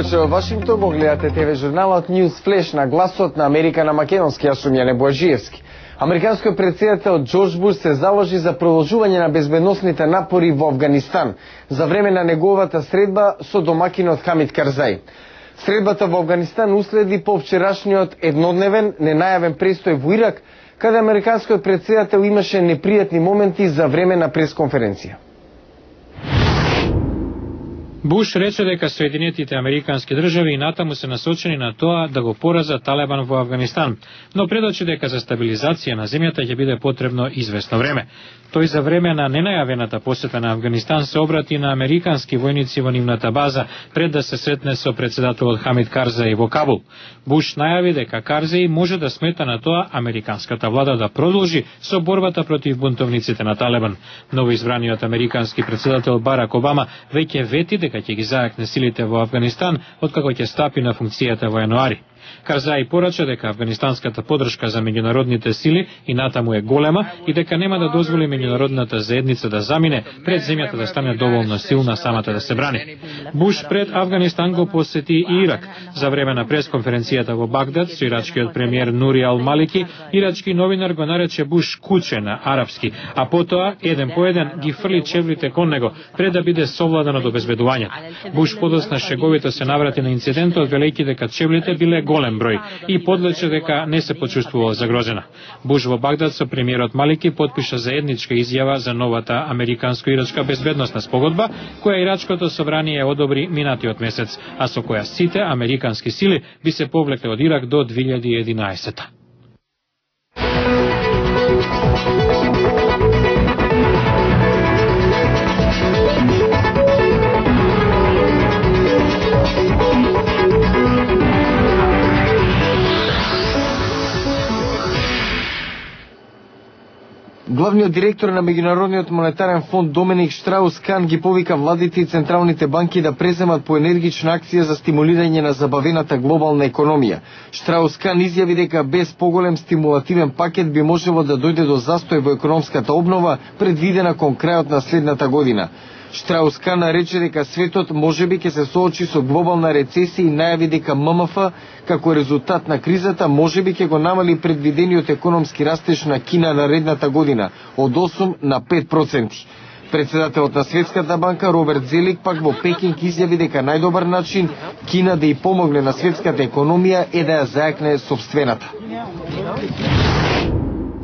повеќе во Вашингтон го гледате ТВ журналот News Flash на гласот на Америка на македонски. Јас сум Јане Бојаджиевски. Американскиот претседател Џорџ Буш се заложи за продолжување на безбедносните напори во Авганистан за време на неговата средба со домакинот Хамид Карзаи. Средбата во Авганистан уследи по вчерашниот еднодневен ненајавен престој во Ирак, каде американскиот претседател имаше непријатни моменти за време на пресконференција. Буш рече дека Соединетите Американски држави и натаму се насочени на тоа да го пораза Талебан во Авганистан, но предочи дека за стабилизација на земјата ќе биде потребно известно време. Тој за време на ненајавената посета на Авганистан се обрати на американски војници во нивната база пред да се сретне со претседателот Хамид Карзаи во Кабул. Буш најави дека Карзаи може да смета на тоа американската влада да продолжи со борбата против бунтовниците на Талебан. Новоизбраниот американски претседател Барак Обама веќе вети дека ќе ги зајакне силите во Авганистан откако ќе стапи на функцијата во јануари. Карзаи порача дека афганистанската поддршка за меѓународните сили и натаму е голема и дека нема да дозволи меѓународната заедница да замине пред земјата да стане доволно силна самата да се брани. Буш пред Авганистан го посети и Ирак. За време на пресконференцијата во Багдад со ирачкиот премиер Нури Ал Малики, ирачки новинар го нарече Буш куче на арапски, а потоа еден по еден ги фрли чевлите кон него пред да биде совладан од обезбедувањето. Буш подосна шеговито се наврати на инцидентот велејќи дека чевлите биле голем број и подлече дека не се почувствувал загрозена. Буш во Багдад со премиерот Малики потпиша заедничка изјава за новата американско-ирачка безбедносна спогодба, која ирачкото собрание одобри минатиот месец, а со која сите американски сили би се повлекле од Ирак до 2011. Главниот директор на Меѓународниот монетарен фонд Доминик Штраус-Кан ги повика владите и централните банки да преземат поенергична акција за стимулирање на забавената глобална економија. Штраус-Кан изјави дека без поголем стимулативен пакет би можело да дојде до застој во економската обнова предвидена кон крајот на следната година. Штраус-Кан рече дека светот можеби ќе се соочи со глобална рецесија и најави дека ММФ како резултат на кризата можеби ќе го намали предвидениот економски растеж на Кина наредната година од 8 на 5%. Председателот на Светската банка Роберт Зелик пак во Пекинг изјави дека најдобар начин Кина да ја помогне на светската економија е да ја зајакне сопствената.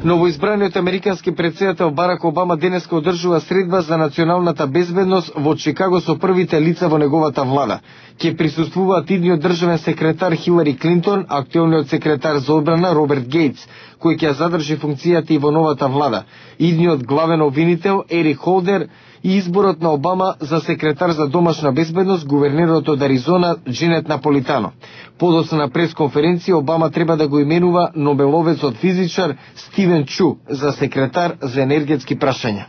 Новоизбраниот американски претседател Барак Обама денеска одржува средба за националната безбедност во Чикаго со првите лица во неговата влада. Ќе присуствуваат идниот државен секретар Хилари Клинтон, актуелниот секретар за одбрана Роберт Гейтс, кој ќе задржи функцијата и во новата влада, идниот главен обвинител Ерик Холдер и изборот на Обама за секретар за домашна безбедност гувернерот од Аризона Дженет Наполитано. Подоцна на пресконференција Обама треба да го именува Нобеловецот физичар Стивен Чу за секретар за енергетски прашања.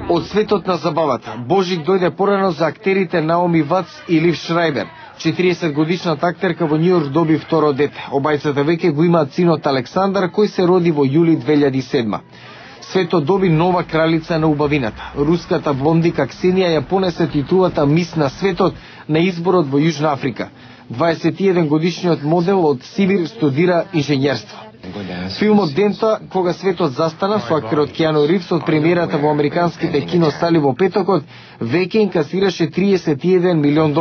Од светот на забавата, Божик дојде порано за актерите Наоми Вац и Лив Шрајбер. 40-годишната актерка во Њујорк доби второ дете. Обајцата веќе го имаат синот Александар, кој се роди во јули 2007. Светот доби нова кралица на убавината. Руската блондика Ксенија ја понесе титулата Мис на светот на изборот во Јужна Африка. 21 годишниот модел од Сибир студира инженерство. Филмот Дента, кога светот застана, со актерот Киану Ривз од премиерата во американските киносали во петокот, веќе инкасираше $31 милион.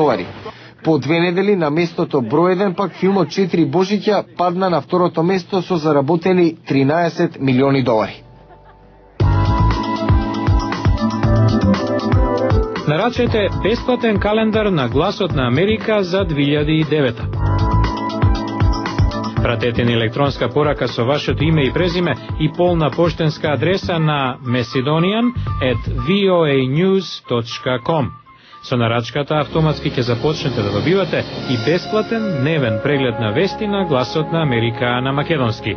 По 2 недели на местото број 1 пак филмот 4 Божиќа падна на второто место со заработени $13 милиони. Нарачете бесплатен календар на Гласот на Америка за 2009. Пратете ни електронска порака со вашето име и презиме и полна поштенска адреса на macedonian@voanews.com. Со нарачката автоматски ќе започнете да добивате и бесплатен дневен преглед на вести на Гласот на Америка на македонски.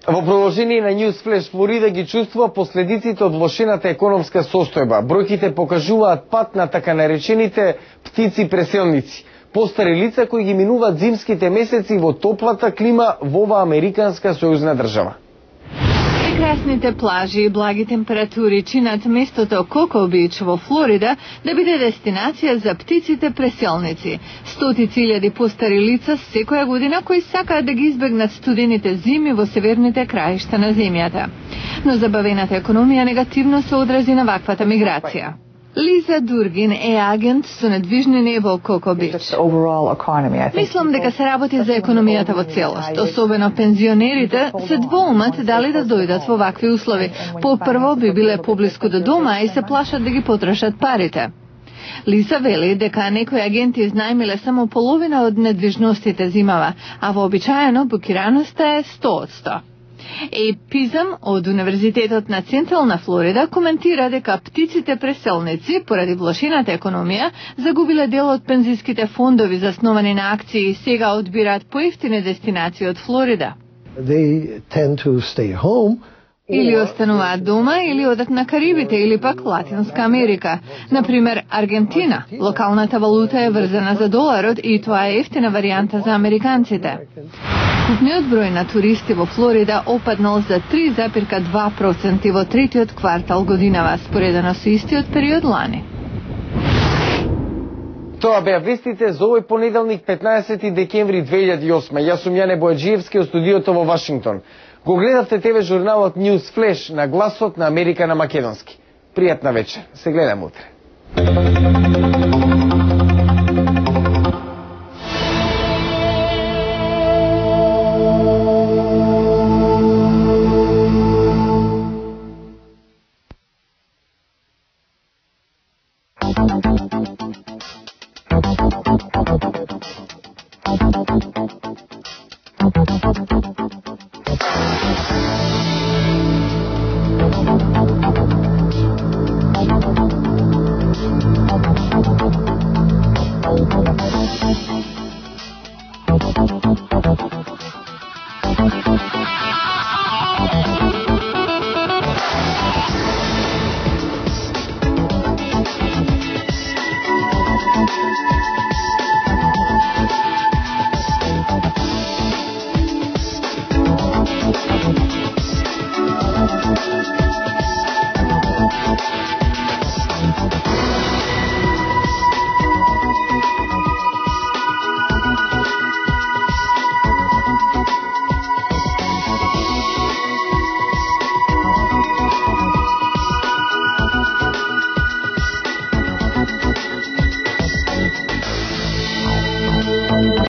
Во продолжение на News Flash, Флорида ги чувствува последиците од влошената економска состојба. Бројките покажуваат пат на така наречените птици преселници. Постари лица кои ги минуваат зимските месеци во топлата клима во ова американска сојузна држава. Прекрасните плажи и благи температури чинат местото Коко Бич во Флорида да биде дестинација за птиците преселници. Стотици илјади постари лица секоја година кои сакаат да ги избегнат студените зими во северните краишта на земјата. Но забавената економија негативно се одрази на ваквата миграција. Лиза Дургин е агент со недвижнини во Коко Бич. Мислам дека се работи за економијата во целост, особено пензионерите се двоумат дали да дојдат во вакви услови. По-прво би биле поблиску до дома и се плашат да ги потрошат парите. Лиза вели дека некои агенти изнајмиле само половина од недвижностите зимава, а вообичаено букираноста е 100%. Ейб Пизам од Универзитетот на Централна Флорида коментира дека птиците преселници, поради влошената економија, загубиле дел од пензиските фондови засновани на акции и сега одбираат поевтини дестинации од Флорида. Или остануваат дома, или одат на Карибите, или пак Латинска Америка. Например, Аргентина. Локалната валута е врзана за доларот и тоа е ефтина варијанта за американците. Купниот број на туристи во Флорида опаднал за 3,2% во третиот квартал годинава, споредено со истиот период лани. Тоа беа вестите за овој понеделник 15 декември 2008. Јас сум Јане Бојаджиевски од студиото во Вашингтон. Го гледавте ТВ журналот News Flash на гласот на Америка на македонски. Пријатна вечер. Се гледаме утре.